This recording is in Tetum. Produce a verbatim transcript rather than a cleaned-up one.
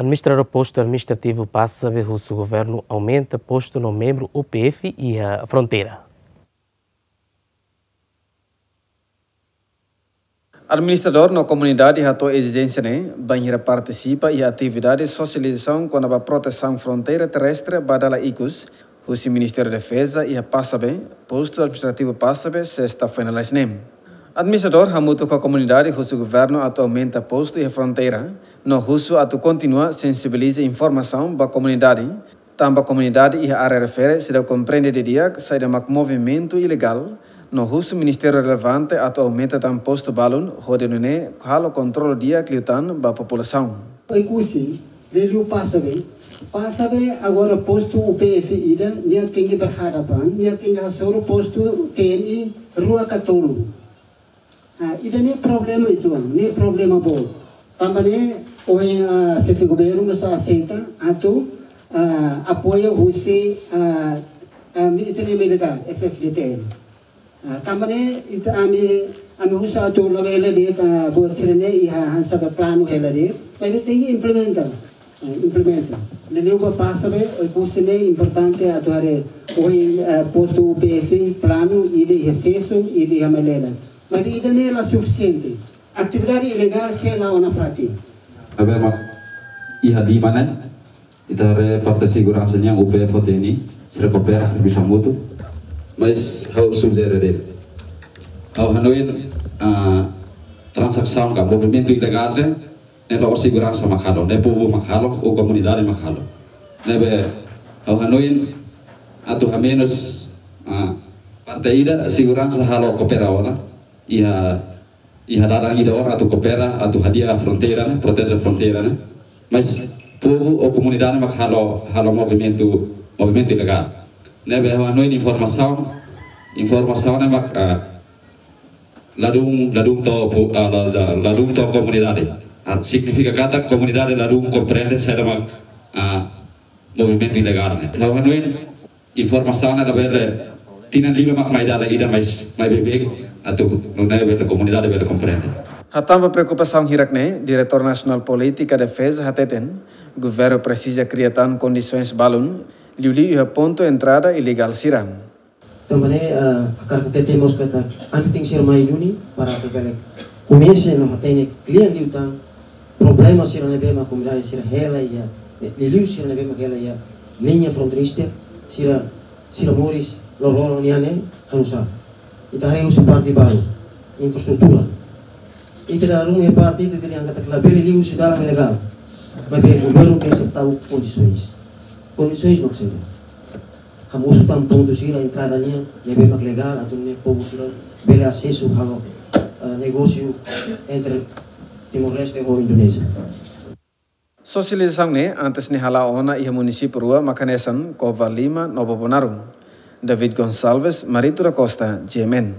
Administradór Postu Administrativu Passabe husu governu aumenta postu no membru U P F iha fronteira. Administradór no komunidade hato'o ezijénsia ne'e bainhira partisipa iha atividade sosializasaun kona-ba protesaun fronteira terrestre ba dala ikus, husi Ministériu Defeza iha Passabe, Postu Administrativu Passabe, sesta foin lalais ne'e. Administradór hamutuk ho komunidade husu governu atu aumenta postu iha fronteira, no husu atu kontinua sensibiliza informasaun ba komunidade, tanba komunidade iha área refere seidauk komprende didi'ak saida mak movimentu ilegál, no husu ministériu relevante atu aumenta tan postu balun, hodi nune'e halo kontrolu di'ak liután ba populasaun. Oekusi, liuliu Passabe. Passabe agora postu U P F ida, nia tenke berhadapan, nia tenke hasoru postu T N I rua ka tolu. Ah, ida-ne'e problema uitoan, ne'e problema boot. Tanba ne'e, ohin, ah, xefe governu mós aseita atu, ah, apoiu husi, ah, ah, mi-, ita-nia militár, F F D T L. Ah, tanba ne'e, ita ami, ami husu atu labele de'it, ah, buat sira-ne'e iha hanesan planu hela de'it, maibé tenke implementa, eh, implementa. Liuliu ba Passabe, Oekusi ne'e importante atu haree ohin, eh, postu U P F, planu, ida iha Seso, ida iha Mailele. Maibé ida-ne'e la sufisiente. Atividade ilegál sei la'o nafatin. Ne'ebé mak iha di mana, ita haree parte seguransa nian U P F ho T N I, sira koopera, servisu hamutuk. Mas ha'u sujere de'it. Ha'u hanoin, ah, tranzasaun ka movimentu ilegál ne'e, ne'e la'ós seguransa mak halo, ne'e povu mak halo, ou komunidade mak halo. Ne'ebé ha'u hanoin atu hamenus, ah, parte ida seguransa halo koopera ona, iha, iha dalan ida ona atu koopera, atu hadi'a fronteira ne'e, proteje fronteira ne'e. Mas povu ou komunidade mak halo, halo movimentu, movimentu ilegál. Ne'ebé ha'u hanoin informasaun, informasaun ne'e mak, ah, ladún, ladún to'o pu-, ah, la-, la-, ladún to'o komunidade. Ah, signifika katak komunidade ladún komprende saida mak, ah, movimentu ilegál ne'e. Ha'u hanoin informasaun ne'e labele tinan lima mak mai dala ida, mas mai beibeik atu nune'e bele komunidade bele komprende. Hatán ba preokupasaun hirak-ne'e, Diretór Nasionál Polítika Defeza hateten, governu presiza kria tan kondisoens balun, liuliu iha pontu entrada ilegál sira. Tanba ne'e, eh, hakarak hatete mós katak ami tenke ser mai duni para atu bele komesa no hatene kle'an liután problema sira ne'ebé mak komunidade sira hela iha, liuliu sira ne'ebé mak hela iha liña fronteira, sira, sira moris loroloron nian ne'e hanusá. Ita haree husi parte balu, infraestrutura. Ita dala ruma iha parte ita dehan katak labele liu husi dalan ilegál. Maibé governu tenke ser tau kondisoens. Kondisoens mak saida? Hamosu tan pontu sira entrada nian ne'ebé mak legál atu nune'e povu sira bele asesu halo, eh, negósiu entre Timor-Leste ho Indonézia. Sosializasaun ne'e antes ne'e hala'o ona iha munisípiu rua mak hanesan Covalima no Bobonaro. David Gonçalves, Marito da Costa, G M N.